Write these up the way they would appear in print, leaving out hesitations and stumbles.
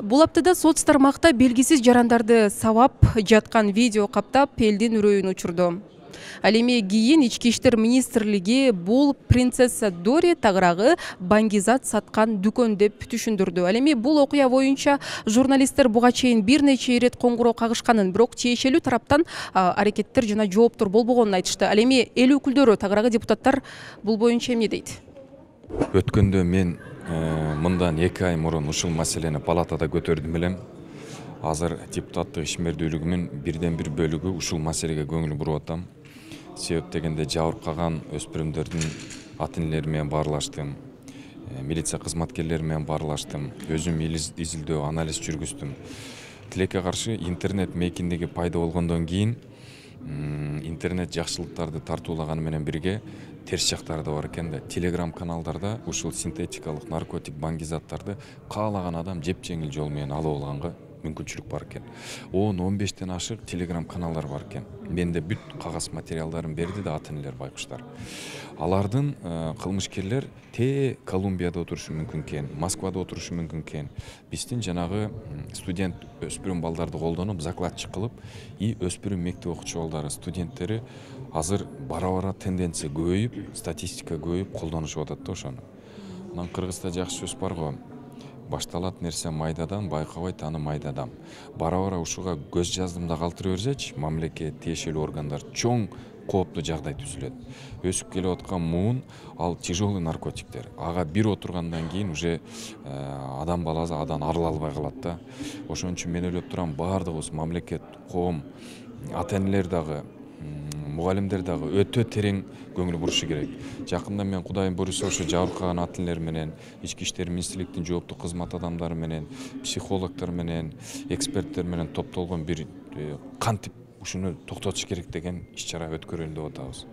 Бул аптада соц тармакта белгисиз жарандарды сабап жаткан видео каптап элдин үрөйүн учурду. Ал эми кийин Ички иштер министрлиги бул принцесса Дори тагыраагы баңгизат саткан дүкөн деп түшүндүрдү. Ал эми бул окуя боюнча журналисттер буга чейин бир нече ирет коңгуроо кагышканын, бирок тиешелүү тараптан аракеттер жана жооптор болбогонун айтышты. Ал эми эл өкүлдөрү, тагыраагы депутаттар бул боюнча эмне дейт? Өткөндө мен мындан 2 ай мурун ушул маселени палатада көтөрдүм элем. Азыр депутаттык ишмердүүлүгүмүн бирден бир бөлүгү ушул маселеге көңүл буруп атам. Себеп дегенде жабыркаган өспүрүмдөрдүн ата-энелери менен баарлаштым. Милиция кызматкерлери менен баарлаштым. Өзүм изилдөө, анализ жүргүздүм. Тилекке каршы интернет мейкиндиги пайда болгондон кийин интернет жакшылыктарды тартуулаганы менен бирге терс жактары да бар экен да. Телеграм каналдарда ушул синтетикалык наркотик баңгизаттарды каалаган адам жеп-жеңил жол менен алып алганга мүмкүнчүлүк бар экен. 10-15тен ашык телеграм каналдар бар экен. Менде бүт кагаз материалдарын берди да ата-энелер байкуштар. Алардын кылмышкерлер Колумбияда отурушу мүмкүн экен, Москвада отурушу мүмкүн экен. Биздин жанагы студент өспүрүм балдарды колдонуп, закладчик кылып, өспүрүм мектеп окуучу балдары, студенттери азыр бара-бара тенденция көбөйүп, статистика көбөйүп колдонушуп атат да ошону. Анан кыргызда жакшы сөз бар го. Башталат нерсе майдадан, байкабайт аны майдадам. Бара-бара ушуга көз жаздымда калтыра берсечи, мамлекет, тиешелүү органдар чоң кооптуу жагдай түзүлөт. Өсүп келип аткан муун ал тяжелый наркотиктер. Ага бир отургандан кийин уже адам баласы адан арыла албай калат да. Ошон үчүн мен ойлоп турам, баардыгыбыз мамлекет, коом, ата-энелер дагы, мугалимдер дагы өтө терең көңүл бурушу керек. Жакында мен Кудайым буйруса ошо жабыркаган ата-энелер менен, Ички иштер министрликтин жооптуу кызмат адамдары менен, психологдор менен, эксперттер менен топтолгон бир кантип ушуну токтотуш керек деген иш-чара өткөрөлүн деп атабыз.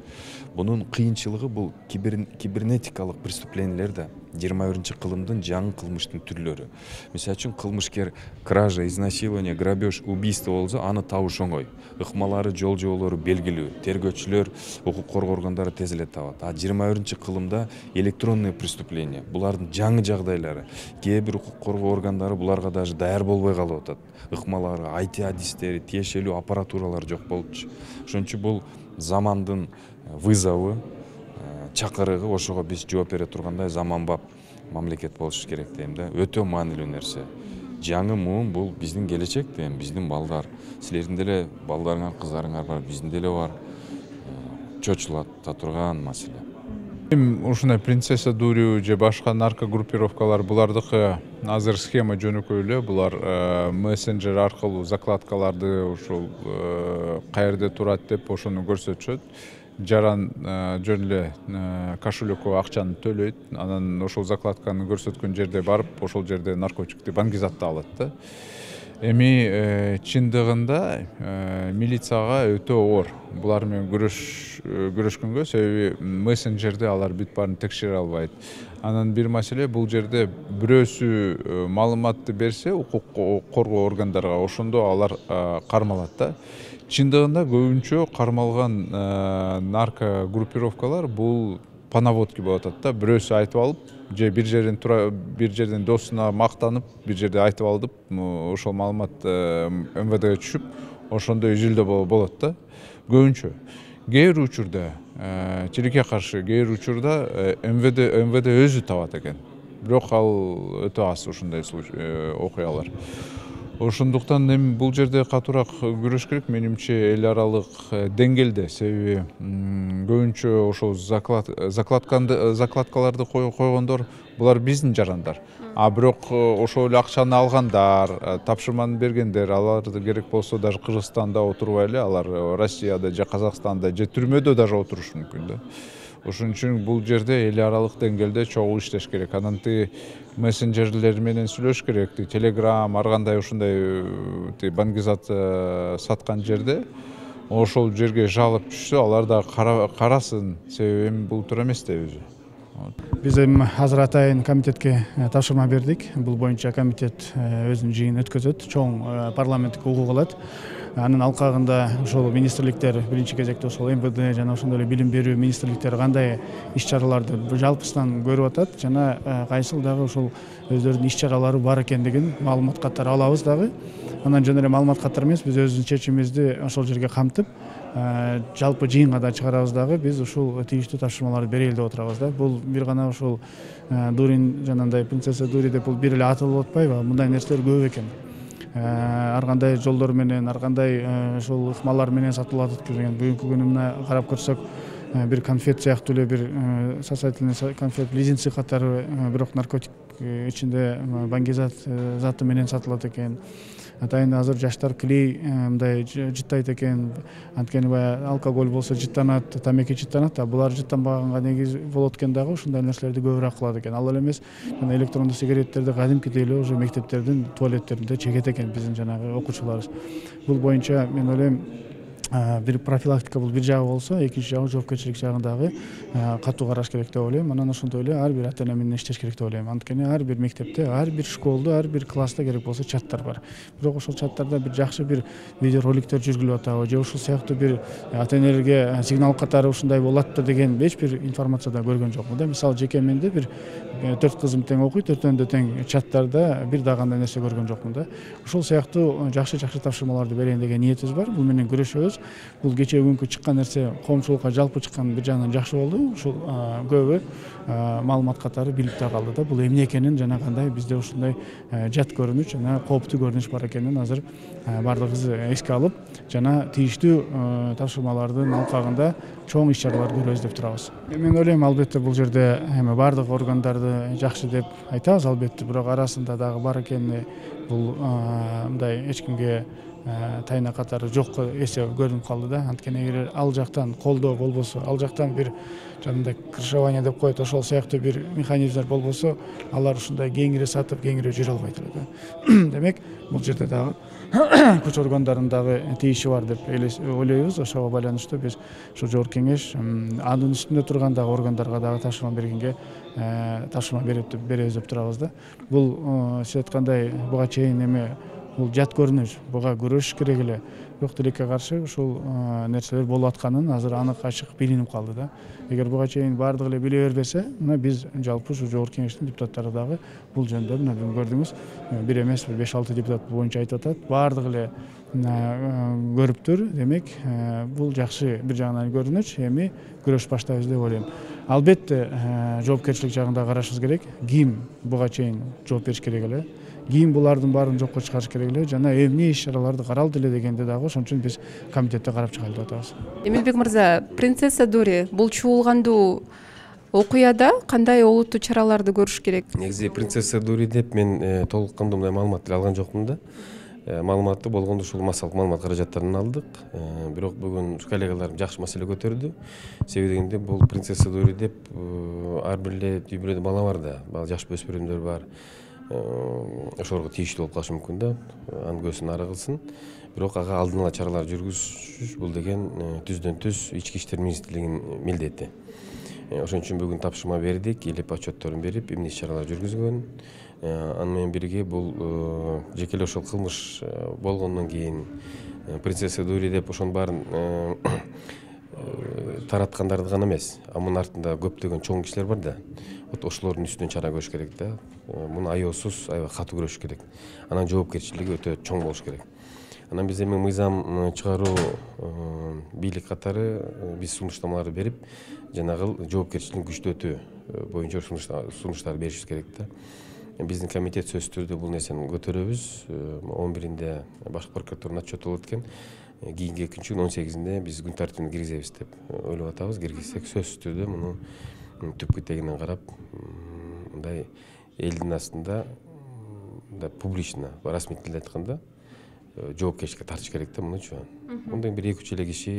Бунун кыйынчылыгы бул кибернетикалык преступлениялер да 21-кылымдын жаңы кылмыштын түрлөрү. Мисалы үчүн кылмышкер кража, изнасилование, грабеж, убийство болсо аны табыш оңой. Ыкмалары, жол жоолору белгилүү. Тергөөчүлөр, укук коргоо органдары тез эле табат. 21-кылымда электронный преступление, булардын жаңы жагдайлары. Кээ бир укук коргоо органдары буларга даже даяр болбой калып атат. Ыкмалары, IT адистери, тиешелүү аппаратуралар жок болупчу. Ошон үчүн бул замандын вызову, чакырыгы, ошого биз жооп бере тургандай заманбап мамлекет болуш керек дейм да. Өтө маанилүү нерсе. Жаңы муун бул биздин келечек дейм, биздин балдар. Силердин деле балдарыңар, кыздарыңар бар, биздин деле бар. Чочулата турган маселе. Ушундай принцесса Дурию же башка наркогруппировкалар булардыкы азыр схема жөнөкөй эле. Булар мессенджер аркылуу закладкаларды ушул каерде турат деп ошону көрсөтүшөт. Жаран жөн эле кошелёкко акчаны төлөйт, анан ошол закладканы көрсөткөн жерде барып, ошол жерде наркотикти баңгизатты алат да. Эми чындыгында милицияга өтө оор булар менен күрөшкөнгө, себеби мессенджерде алар бүт баарын текшере албайт. Анан бир маселе, бул жерде бирөөсү маалыматты берсе укук коргоо органдарга, ошондо алар кармалат да. Чындыгында көбүнчө кармалган наркогруппировкалар бул по наводке болуп атат да. Бирөөсү айтып алып, же бир жерден досуна мактанып, бир жерде айтып алып, ошол маалымат МВДге түшүп, ошондо изилдөө болот да. Көбүнчө. Кээ бир учурда, тилекке каршы кээ бир учурда МВД өзү табат экен. Бирок ал өтө аз ушундай окуялар. Ошондуктан эми бул жерде катуураак күрөш керек менимче эл аралык деңгээлде, себеби көбүнчө ошол закладкаларды койгондор булар биздин жарандар. Бирок ошол эле акчаны алгандар, тапшырманы бергендер, аларды керек болсо даже Кыргызстанда отурбай эле, алар Россияда же Казакстанда же түрмөдө даже отурушу мүмкүн да. Ошон үчүн бул жерде эл аралык деңгээлде чогуу иштеш керек. Анан мессенджерлер менен сүйлөш керек. Телеграм, ар кандай ушундай баңгизат саткан жерде ошол жерге жалоба түшсө, алар да карасын, себеби эми бул туура эмес да өзү. Биз эми азыр атайын комитетке тапшырма бердик. Бул боюнча комитет өзүнүн жыйынын өткөзөт, чоң парламенттик угук алат. Анын алкагында ошол министрликтер биринчи кезекте ошол МВД жана ошондой эле билим берүү министрликтери кандай иш чараларды жалпысынан көрүп атат жана кайсыл дагы ошол өздөрүнүн иш чаралары бар экендигин маалымат катары алабыз дагы. Анан жана эле маалымат катары эмес, биз өзүбүздүн чечимибизди ошол жерге камтып, жалпы жыйынга да чыгарабыз дагы, биз ушул тийиштүү тапшырмаларды берели деп отурабыз да. Бул бир гана ушул Дурин жанагындай принцесса Дури деп бул бир эле аталып атпайбы? Мындай нерселер көп экен. Ар кандай жолдор менен, ар кандай ушул ыкмалар менен сатылып атат деген. Бүгүнкү күнү мына карап көрсөк, бир конфет сыяктуу эле бир сосательный конфет, лизинцы катары, бирок наркотик ичинде баңгизат заты менен сатылат экен. Атайын азыр жаштар клей мындай жыттайт экен. Анткени баягы алкоголь болсо жыттанат, тамеки жыттанат, а булар жыттанбаганга негиз болот экен дагы, ушундай нерселерди көбүрөөк кылат экен. Ал эле эмес, жана электрондуу сигареттерди кадимкидей эле уже мектептердин туалеттеринде чегет экен биздин жанагы окуучуларыбыз. Бул боюнча мен ойлойм, бир профилактика бул бир жагы болсо, экинчи жагы жоопкерчилик жагындагы катуу караш керек деп ойлойм. Анан ошондой эле ар бир ата-эне менен иштеш керек деп ойлойм. Анткени ар бир мектепте, ар бир школдо, ар бир класста керек болсо чаттар бар. Бирок ошол чаттарда бир жакшы бир видеороликтер жүргүлүп атабы, же ушул сыяктуу бир ата-энелерге сигнал катары ушундай болот деген эч бир информацияда көргөн жокмун да. Мисалы жеке менде бир 4 кызым тең окуйт, төртөөндө тең чаттарда бир дагы кандай нерсе көргөн жокмун да. Ушул сыяктуу жакшы тапшырмаларды берейин деген ниетибиз бар. Бул менен күрөшөбүз. Бул кечээ күнкү чыккан нерсе коомчулукка жалпы чыккан бир жагынан жакшы болду. Ушул көбү маалымат катары билип да калды да. Бул эмне экенин жана кандай бизде ушундай жат көрүнүш жана кооптуу көрүнүш бар экенин азыр бардыгыбыз эске алып, жана тийиштүү тапшырмалардын алкагында чоң иш чаралар көрөбүз деп турабыз. Мен ойлойм, албетте бул жерде эми бардык органдарды жакшы деп айтабыз, албетте, бирок арасында дагы бар экени бул мындай эч кимге тайна катары жок эсе көрүнүп калды да. Анткени эгер ал жактан колдоо болбосо, ал жактан бир жанагындай крышевание деп коет, ошол сыяктуу бир механизмдер болбосо, алар ушундай кеңири сатып, кеңири жүрө албайт эле да. Демек, бул жерде дагы күч органдарынын дагы тийиши бар деп ойлойбуз. Ошого байланыштуу биз ушу жогорку кеңеш анын үстүндө турган дагы органдарга дагы тапшырма бергенге тапшырма беребиз деп турабыз да. Бул сиз айткандай буга чейин эме бул жат көрүнүш, буга күрөшүш керек эле. Бирок тилекке каршы ушул нерселер болуп атканын азыр анык ачык билинип калды да. Эгер буга чейин бардыгы эле биле бербесе, мына биз жалпы ушу жогорку кеңештин депутаттары дагы бул жөнүндө мына көрдүңүз, бир эмес, 5-6 депутат боюнча айтып атат. Бардыгы эле көрүптүр. Демек, бул жакшы бир жагынан көрүнүш, эми күрөш баштайбыз деп ойлойм. Албетте, жоопкерчилик жагында карашыбыз керек. Ким буга чейин жооп бериш керек эле. Кийин булардын баарын жокко чыгарыш керек эле жана эмне иш чараларды каралды эле дегенде дагы ошон үчүн биз комитетте карап чыгайлы деп атабыз. Эмилбек мырза, принцесса Дори бул чуулгандуу окуяда кандай олуттуу чараларды көрүш керек? Негизи принцесса Дури деп мен толук кандуу мындай маалымат алган жокмун да. Маалыматты болгондо ушул массалык маалымат каражаттарынан алдык. Бирок бүгүн коллегаларым жакшы маселе көтөрдү. Себеби дегенде бул принцесса Дури деп ар бир эле үй-бүлөдө бала бар да, жаш өспүрүмдөр бар. Ошолорго тийиштүү болуп калышы мүмкүн да, анын көзүн ары кылсын. Бирок ага алдын ала чаралар жүргүзүш бул деген түздөн түз ички иштер министрлигинин милдети. Ошон үчүн бүгүн тапшырма бердик, илип отчетторун берип, эмне иш чаралар жүргүзгөн. Аны менен бирге бул жеке эле ошол кылмыш болгондон кийин принцесса Дури деп ошонун баарын тараткандарды гана эмес, мунун артында көптөгөн чоң кишилер бар да. Ошолордун үстүнөн чара көрүш керек да. Муну аеосуз, аябай катуу көрүш керек. Анан жоопкерчилиги өтө чоң болуш керек. Анан биз эми мыйзам чыгаруу бийлик катары биз сунуштамаларды берип, жанагыл жоопкерчилигин күчтөтүү боюнча сунуштар беришибиз керек да. Биздин комитет сөзсүз түрдө бул нерсени көтөрөбүз. 11-inde башкы прокуратуранын отчету болот экен. Кийинки экинчи күн 18-inde биз күн тартибине киргизебиз деп ойлоп атабыз. Киргизсек сөзсүз түрдө муну түпкү тегинен карап, мындай элдин астында публично, расмий тилде айтканда, жоопкерчиликке тартыш керек да мунучу. Мындан бир 2-3 эле киши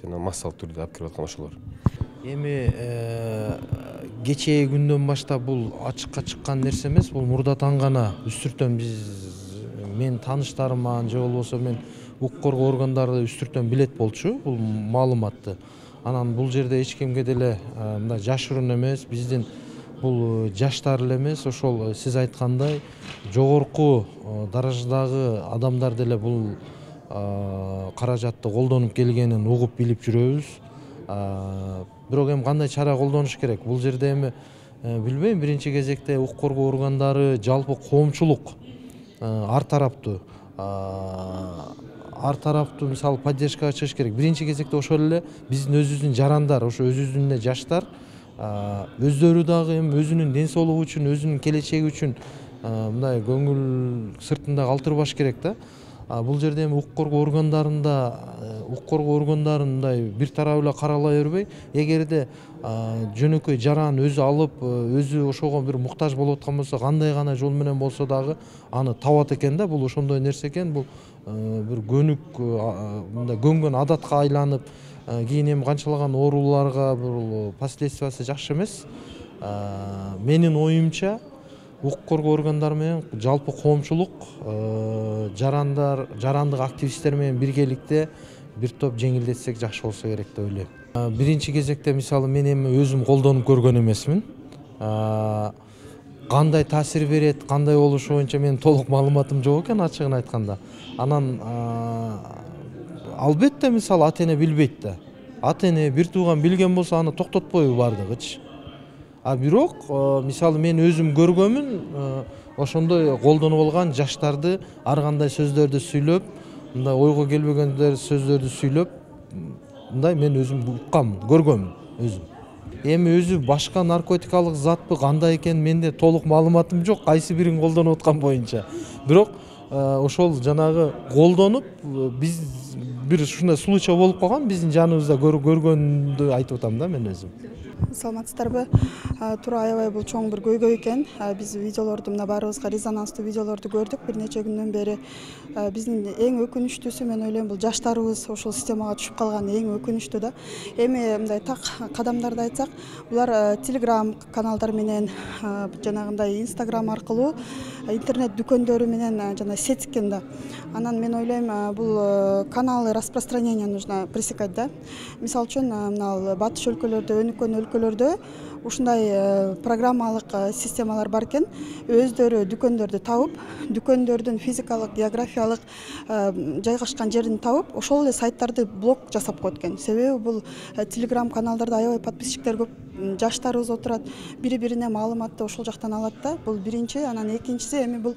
жана массалык түрдө алып кирип аткан ошолор. Эми кечээ күндөн баштап бул ачыкка чыккан нерсе эмес, бул мурдатан гана үстүртөн мен тааныштарыман же болбосо мен укук коргоо органдары үстүртөн билет болчу бул маалыматты. Анан бул жерде эч кимге деле мындай жашыруун эмес, биздин бул жаштар эле эмес, ошол сиз айткандай жогорку даражадагы адамдар деле бул каражатты колдонуп келгенин угуп билип жүрөбүз. Бирок эми кандай чара колдонуш керек? Бул жерде эми билбейм, биринчи кезекте укук коргоо органдары, жалпы коомчулук ар тараптуу мисалы поддержкага чыгыш керек. Биринчи кезекте ошол эле биздин өзүбүздүн жарандар, ошо өзүбүздүн эле жаштар өздөрү дагы эми өзүнүн ден соолугу үчүн, өзүнүн келечеги үчүн мындай көңүл сыртында калтырбаш керек да. Бул жерде эми укук коргоо органдарын мындай бир тарап эле карала бербей, эгерде жөнөкөй жаран өзү алып, өзү ошого бир муктаж болуп аткан болсо, кандай гана жол менен болсо дагы аны табат экен да. Бул ошондой нерсе экен. Бул бир мындай көнгөн адатка айланып, кийин эми канчалаган ооруларга бул последствиясы жакшы эмес. Менин оюмча укук коргоо органдары менен жалпы коомчулук, жарандык активисттер менен биргеликте бир топ жеңилдетсек жакшы болсо керек деп ойлойм. Биринчи кезекте мисалы мен эми өзүм колдонуп көргөн эмесмин. Кандай таасир берет, кандай болушу боюнча менин толук маалыматым жок экен, ачыгын айтканда. Анан албетте мисалы ата-эне билбейт да. Ата-эне бир тууган билген болсо аны токтотпойбу бардыгычы. Бирок мисалы мен өзүм көргөнмүн, ошондой колдонуп алган жаштарды ар кандай сөздөрдү сүйлөп, мындай ойго келбеген сөздөрдү сүйлөп, мындай мен өзүм уккам, көргөнмүн өзүм. Эми өзү башка наркотикалык затпы, кандай экен менде толук маалыматым жок, кайсы бирин колдонуп аткан боюнча. Бирок ошол жанагы колдонуп, биз бир ушундай случай болуп калган, биздин жаныбызда көргөндү айтып атам да мен өзүм. Саламатсыздарбы? Туура аябай бул чоң бир көйгөй экен. Биз видеолорду мына баарыбызга резонанстуу видеолорду көрдүк бир нече күндөн бери. Биздин эң өкүнүчтүүсү мен ойлойм бул жаштарыбыз ошол системага түшүп калган эң өкүнүчтүү да. Эми мындай так кадамдарды айтсак, булар Telegram каналдар менен, жанагындай Instagram аркылуу интернет дүкөндөрү менен жана сеткен да. Анан мен ойлойм бул каналы распространения нужно пресекать да. Мисалы үчүн мына батыш өлкөлөрдө, өнүккөн өлкөлөрдө ушундай программалык системалар бар экен. Өздөрү дүкөндөрдү табып, дүкөндөрдүн физикалык, географиялык жайгашкан жерин табып, ошол эле сайттарды блок жасап коет экен. Себеби бул Telegram каналдарда аябай подписчиктер көп, жаштарыбыз отурат, бири-бирине маалыматты ошол жактан алат да. Бул биринчи, анан экинчиси эми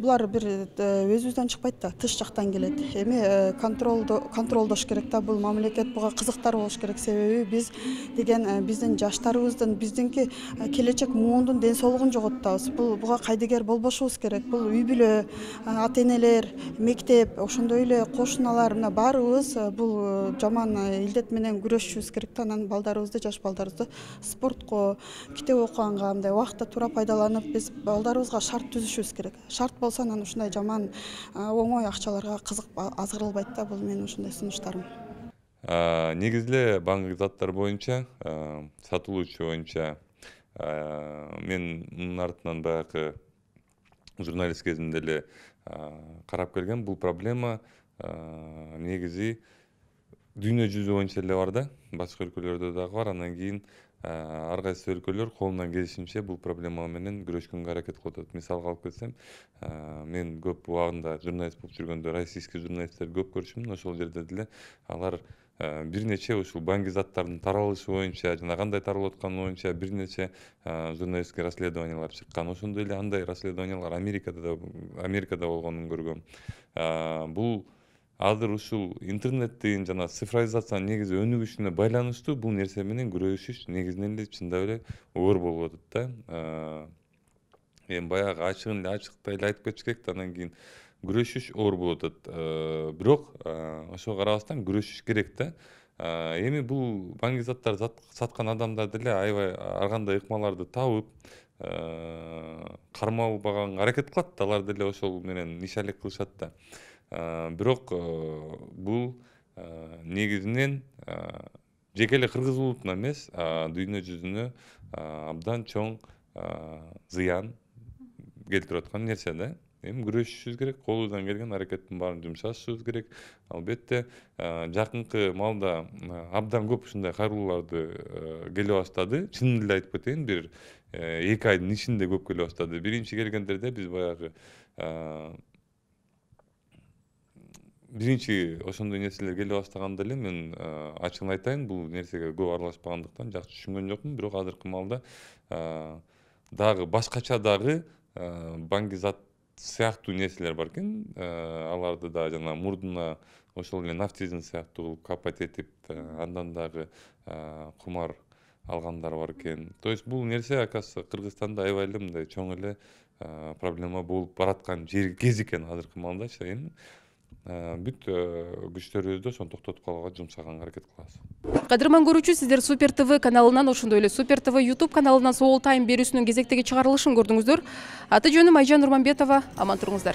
булар бир өзүбүздөн чыкпайт да, тыш жактан келет. Эми контролдош керек да, бул мамлекет буга кызыктар болуш керек. Себеби биз деген биздин жаштарыбыздын, биздинки келечек муундун ден соолугун жоготтобуз. Буга кайдыгер болбошубуз керек. Бул үй бүлө, ата-энелер, мектеп, ошондой эле кошуналар, мына баарыбыз бул жаман илдет менен күрөшүшүбүз керек да. Анан балдарыбызды, жаш балдарыбызды спортко, китеп окуганга мындай убакытта туура пайдаланып, биз балдарыбызга шарт түзүшүбүз керек. Шарт болсо анан ушундай жаман оңой акчаларга кызык азгырылбайт да. Бул менин ушундай сунуштарым. Негизи эле баңгы заттар боюнча, сатылуучу боюнча мен мунун артынан баягы журналист кезинде эле карап келгем. Бул проблема негизи дүйнө жүзү боюнча эле бар да, башка өлкөлөрдө дагы бар. Анан кийин ар кайсы өлкөлөр колунан келишинче бул проблема менен күрөшкөнгө аракет кылып атат. Мисалга алып келсем, мен көп убагында журналист болуп жүргөндө российский журналисттерди көп көрчүмүн. Ошол жерде деле алар бир нече ушул баңги заттардын таралышы боюнча жана кандай таралып атканы боюнча бир нече журналисттик расследованиялар чыккан. Ошондой эле андай расследованиялар Америкада болгонун көргөм. Бул азыр ушул интернеттин жана цифровизациянын негизи өнүгүшүнө байланыштуу бул нерсе менен күрөшүш негизинен эле чындап эле оор болуп атат да. Эми баягы ачыктай эле айтып кетиш керек да, анан кийин күрөшүш оор болуп атат. Бирок ошого карабастан күрөшүш керек да. Эми бул баңги заттар саткан адамдар деле аябай ар кандай ыкмаларды табып, кармалбаганга аракет кылат. Алар деле ошол менен иш алек кылышат да. Бирок бул негизинен жеке эле кыргыз улутуна эмес, дүйнө жүзүнө абдан чоң зыян келтирип аткан нерсе да. Эми күрөшүшүбүз керек, колубуздан келген аракеттин баарын жумшашыбыз керек. Албетте жакынкы маалда абдан көп ушундай кайрылууларды келе баштады. Чынын эле айтып кетейин, бир 2 айдын ичинде көп келе баштады. Биринчи келгендерде биз баягы биринчи ошондой нерселер келе баштаганда эле мен ачыгын айтайын, бул нерсеге көп аралашпагандыктан жакшы түшүнгөн жокмун. Бирок азыркы маалда дагы башкача дагы баңгизат сыяктуу нерселер бар экен. Аларды да жана мурдуна ошол эле нафтизин сыяктуу кылып капать этип, андан дагы кумар алгандар бар экен. То есть бул нерсе акасы Кыргызстанда аябай эле мындай чоң эле проблема болуп бараткан кез экен азыркы маалдачы. Эми бүт күчтөрүбүздү ошону токтотуп калууга жумшаганга аракет кылабыз. Кадырман көрүүчү, сиздер Супер ТВ каналынан, ошондой эле Супер ТВ YouTube каналынан Соол Тайм берүүсүнүн кезектеги чыгарылышын көрдүңүздөр. Аты жөнүм Айжан Нурманбетова. Аман туруңуздар.